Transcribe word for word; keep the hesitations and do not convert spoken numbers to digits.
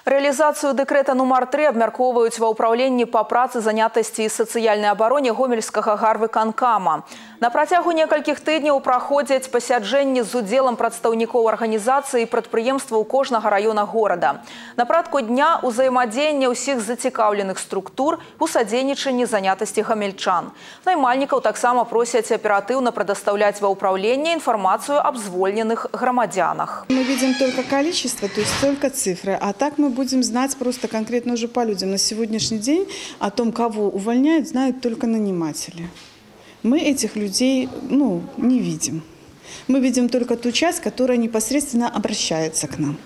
Реализацию декрета нумар три обмяркоўваюць ва ўпраўленні па працы, занятасці і сацыяльнай абароне гомельскага гарвыканкама. На працягу некалькіх тыдняў праходзяць пасяджэнні з удзелам прадстаўнікоў арганізацыі і прадпрыемстваў кожнага раёна горада. На парадку дня ўзаемадзеянне ўсіх зацікаўленых структур у садзейнічанні занятасці гамельчан. Наймальнікаў таксама просяць аператыўна прадастаўляць ва ўпраўленне інфармацыю аб звольненых грамадзянах. Мы видим только количество, то есть только цифры, а так мы будем знать просто конкретно уже по людям. На сегодняшний день о том, кого увольняют, знают только наниматели. Мы этих людей ну, не видим. Мы видим только ту часть, которая непосредственно обращается к нам.